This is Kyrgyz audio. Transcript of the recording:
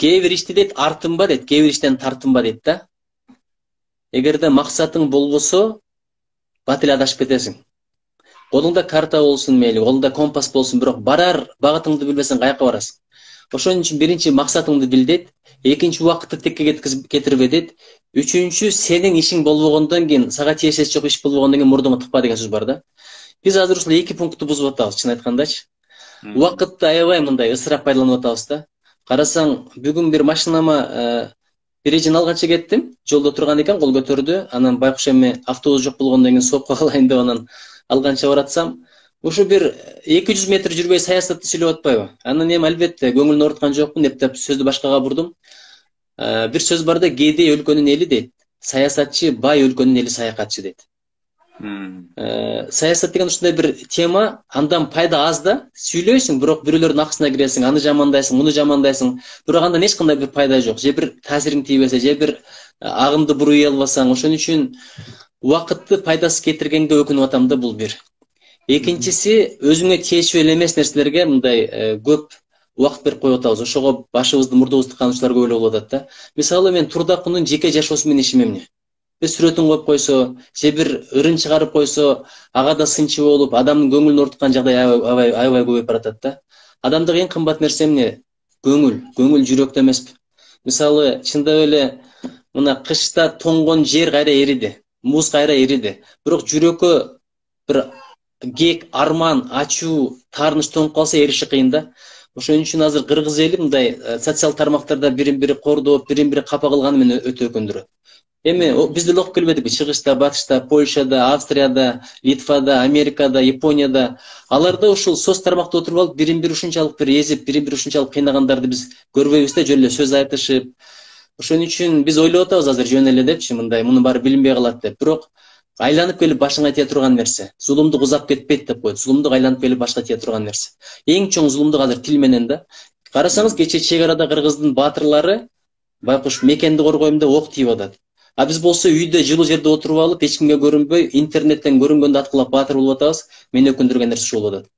кээ бир ишти дейт артынба дейт, кээ бир иштен тартынба дейт да. Эгерде максатың болбосо, бат эле адашып кетесиң. Колуңда карта болсун мейли, колуңда компас болсун, бирок барар багытыңды билбесең каяка барасың. Ошон үчүн биринчи максатыңды бил дейт, экинчи убакытты текке кетирбе дейт, үчүнчү сенин ишиң болбогондон кийин, сага тиешеси жок иш болгондон кийин мурдуңа тыкпа деген сөз бар да. Биз азыр ушул эки пунктты бузуп атабыз, чын айткандачы. Убакытты аябай мындай ысырап пайдаланып атабыз да. Карасаң, бүгүн бир машинама бирежин алганча кеттим, жолдо турган экен, кол көтөрдү, анан байкуш эми автобус жок болгондон кийин сооп калайын деп анан алганча баратсам, ушу бир 200 метр жүрбөй саясатты сүйлөп атпайбы? Анан эми албетте көңүлүн ооруткан жокмун, эптеп сөздү башкага бурдум. Бир сөз бар да, кедей өлкөнүн эли дейт, саясатчы бай өлкөнүн эли саякатчы дейт. Саясат деген ушундай бир тема, андан пайда аз да, сүйлөйсүң, бирок бирөөлөрдүн акысына киресиң, аны жамандайсың, муну жамандайсың, бирок андан эч кандай бир пайда жок. Же бир таасириң тийбесе, же бир агымды буруй албасаң, ошон үчүн убакытты пайдасыз кетиргенге өкүнүп атам да, бул бир. Экинчиси, өзүңө тиешүү эле эмес нерселерге мындай көп убакыт берип коюп атабыз. Ошого башыбызды, мурдубузду тыкканчылар көп эле болуп атат да. Мисалы, мен Турдакундун жеке жашоосу менен ишим эмне? Бир сүрөтүн коюп койсо, же бир ырын чыгарып койсо, ага да сынчы болуп, адамдын көңүлүн ооруткан жагдай аябай көбөйүп баратат да. Адамдык эң кымбат нерсе эмне? Көңүл, көңүл жүрөктө эмеспи? Мисалы, чындап эле мына кышта тоңгон жер кайра эриди, муз кайра эриди. Бирок жүрөккө бир кек, арман, ачуу, таарыныч тоңуп калса эриши кыйын да. Ошон үчүн азыр кыргыз эли мындай социал тармактарда бирин-бири кордоп, бирин-бири капа кылганы мени өтө өкүндүрөт. Эми биз деле окуп келбедикпи? Чыгышта, батышта, Польшада, Австрияда, Литвада, Америкада, Японияда аларда ушул соц тармакта отуруп алып бирин-бири ушунчалык бир эзип, бирин-бири ушунчалык кыйнагандарды биз көрбөйбүз да, жөн эле сөз айтышып. Ошон үчүн биз ойлоп атабыз азыр жөн эле депчи, мындай мунун баары билинбей калат деп. Бирок айланып келип башыңа тие турган нерсе. Зулумдук узап кетпейт деп коет. Зулумдук айланып келип башка тие турган нерсе. Эң чоң зулумдук азыр тил менен да. Карасаңыз, кечээ чек арада кыргыздын баатырлары байкуш мекенди коргойм деп ок тийип атат. А биз болсо үйдө жылуу жерде отуруп алып, эч кимге көрүнбөй, интернеттен көрүнгөндү аткылап баатыр болуп атабыз. Мени өкүндүргөн нерсе ушул болуп атат.